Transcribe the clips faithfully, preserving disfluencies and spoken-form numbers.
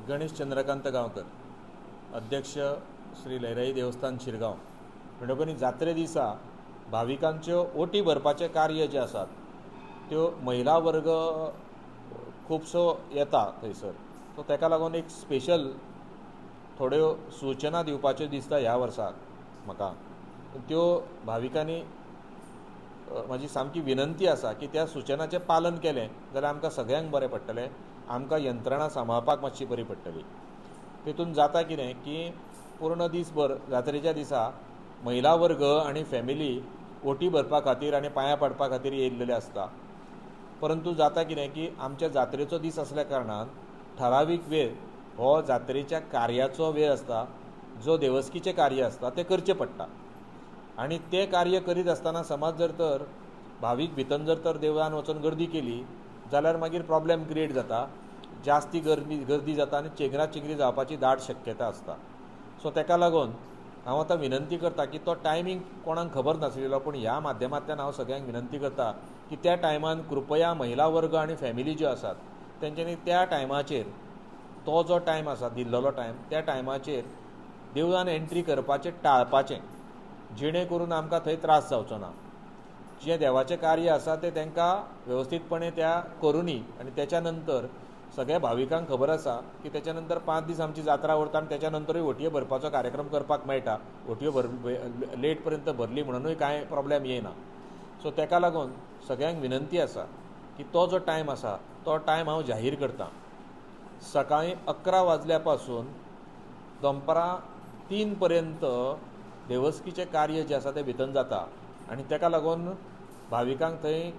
गणेश चंद्रकांत गांवकर, अध्यक्ष श्री लयराई देवस्थान शिरगांव. म्हणटकूच जात्रे दिसा भाविकांच्यो ओटी भरपाचें कार्य जें आसात त्यो महिला वर्ग खुबसो येता थंयसर, सो ताका लागून एक स्पेशल थोड्यो सुचना दिवपाच्यो दिसता ह्या वर्साक म्हाका. त्यो भाविकांनी म्हाजी सामकी विनंती आसा की त्या सुचनाचें पालन केलें जाल्यार आमकां सगळ्यांक बरें पडटलें, आमकां यंत्रणा सांबाळपाक मातशी बरी पडटली. तितून जाता कितें की पूर्ण दीसभर जात्रेच्या दिसा महिला वर्ग आनी फॅमिली ओटी भरपा खातीर आनी पांयां पडपा खातीर येयल्लेले आसता. परंतु जाता कितें की आमच्या जात्रेचो दीस आसल्या कारणान ठरावीक वेळ हो जात्रेच्या कार्याचो वेळ आसता, जो देवस्कीचें कार्य आसता तें करचें पडटा. आनी तें कार्य करीत आसतना समज जर तर भावीक भितर जर तर देवळान वचून गर्दी केली जाल्यार मागीर प्रॉब्लेम क्रिएट जाता, जास्ती गर्दी गर्दी जाता आनी चेंगरा चेंगरी जावपाची दाट शक्यता आसता. सो ताका लागून हांव आतां विनंती करता की तो टायमींग कोणाक खबर नासलेलो, पूण ह्या माध्यमांतल्यान हांव सगळ्यांक विनंती करता की त्या टायमान कृपया महिला वर्ग आनी फॅमिली ज्यो आसात तेंच्यांनी त्या टायमाचेर तो जो टायम आसा दिल्लेलो टायम त्या टायमाचेर देवळान एंट्री करपाचें टाळपाचें, जेणे करून आमकां थंय त्रास जावचो ना. जें देवाचें कार्य आसा तें तांकां वेवस्थीतपणे त्या करुनी आनी त्याच्या नंतर सगळ्या भाविकांक खबर आसा की त्याच्या नंतर पांच दीस आमची जात्रा उरता आनी त्याच्या नंतरूय ओटयो भरपाचो कार्यक्रम करपाक मेळटा. ओटयो भर लेट पर्यंत भरली म्हणूनय कांय प्रॉब्लेम येना. सो ताका लागून सगळ्यांक विनंती आसा की तो जो टायम आसा तो टायम हांव जाहीर करता. सकाळीं अकरा वाजल्या पासून दनपारां तीन पर्यंत देवस्कीचें कार्य जें आसा तें भितर जाता आनी ताका लागून भाविकांक थंय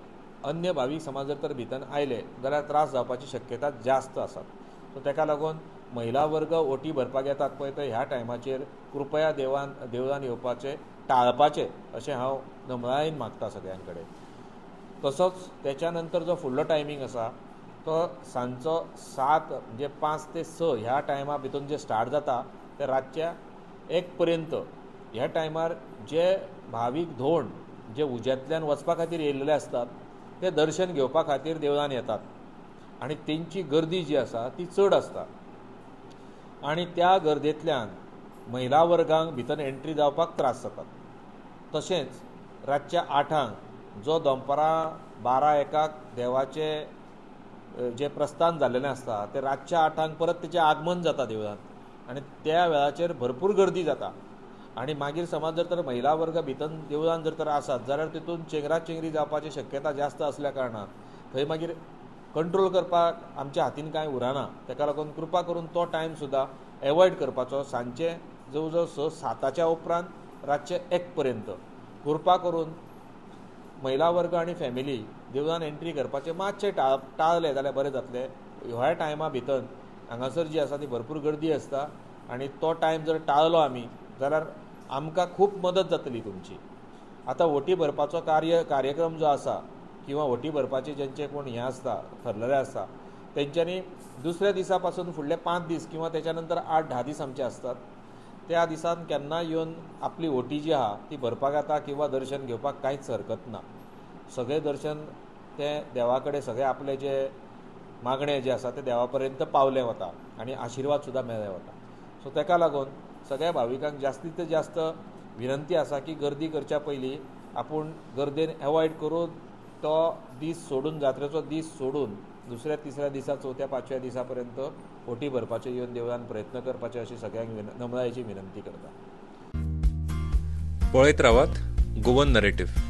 अन्य भावीक समाज जर तर भितर आयले जाल्यार त्रास जावपाची शक्यता जास्त आसा. सो ताका लागून महिला वर्ग ओटी भरपाक येतात पळय तर ह्या टायमाचेर कृपया देवान देवळान येवपाचें टाळपाचें अशें हांव नमळायेन मागता सगळ्यां कडेन. तसोच त्याच्या नंतर जो फुडलो टायमींग आसा तो सांजचो सात म्हणजे पांच ते स ह्या टायमा भितर जे स्टार्ट जाता ते रातच्या एक पर्यंत ह्या टायमार जे भावीक धोंड जे उज्यांतल्यान वचपा खातीर येयल्ले आसतात ते दर्शन घेवपा खातीर देवळान येतात आनी तेंची गर्दी जी आसा ती चड आसता आनी त्या गर्देंतल्यान महिला वर्गांक भितर एंट्री जावपाक त्रास जातात. तशेंच रातच्या आठांक जो दनपारां बारा एकाक देवाचें जें प्रस्थान जाल्लें आसता तें रातच्या आठांक परत तेचें आगमन जाता देवळान आनी त्या वेळाचेर भरपूर गर्दी जाता आनी मागीर समज जर तर महिला वर्ग भितर देवळान जर तर आसात जाल्यार तितून चेंगरा चेंगरी जावपाची शक्यता जास्त आसल्या कारणान थंय मागीर कंट्रोल करपाक आमच्या हातीन कांय उरना. ताका लागून कृपा करून तो टायम सुद्दां एवॉयड करपाचो. सांजचे जवळ जवळ स साताच्या उपरांत रातचे एक पर्यंत कृपा करून महिला वर्ग आनी फॅमिली देवळान एंट्री करपाचें मातशें टाळ टाळलें जाल्यार बरें जातलें. ह्या टायमा भितर हांगासर जी आसा ती भरपूर गर्दी आसता आनी तो टायम जर टाळलो आमी जाल्यार आमकां खूब मदत जातली तुमची. आतां ओटी भरपाचो कार्य कार्यक्रम जो आसा किंवा ओटी भरपाचे जेंचे कोण हें आसता ठरलेलें आसता तेंच्यांनी दुसऱ्या दिसा पासून फुडले पांच दीस किंवा त्याच्या नंतर आठ धा दीस आमचे आसतात त्या दिसान केन्ना येवन आपली ओटी जी आहा ती भरपाक येता किंवा दर्शन घेवपाक कांयच हरकत ना. सगळें दर्शन तें देवा कडेन सगळें आपलें जें मागणें जें आसा तें देवा पर्यंत पावलें वता आनी आशिर्वाद सुद्दां मेळ्ळे वता. सो ताका लागून सगळ्या भाविकांक जास्तीत जास्त विनंती आसा की गर्दी करच्या पयलीं आपूण गर्देन एवॉयड करून तो दीस सोडून जात्रेचो दीस सोडून दुसऱ्या तिसऱ्या दिसा चवथ्या पांचव्या दिसा पर्यंत ओटी भरपाचे येवन देवळान प्रयत्न करपाचे अशी सगळ्यांक नमळायेची विनंती करता. पळयत रावात गोवन नरेटिव्ह.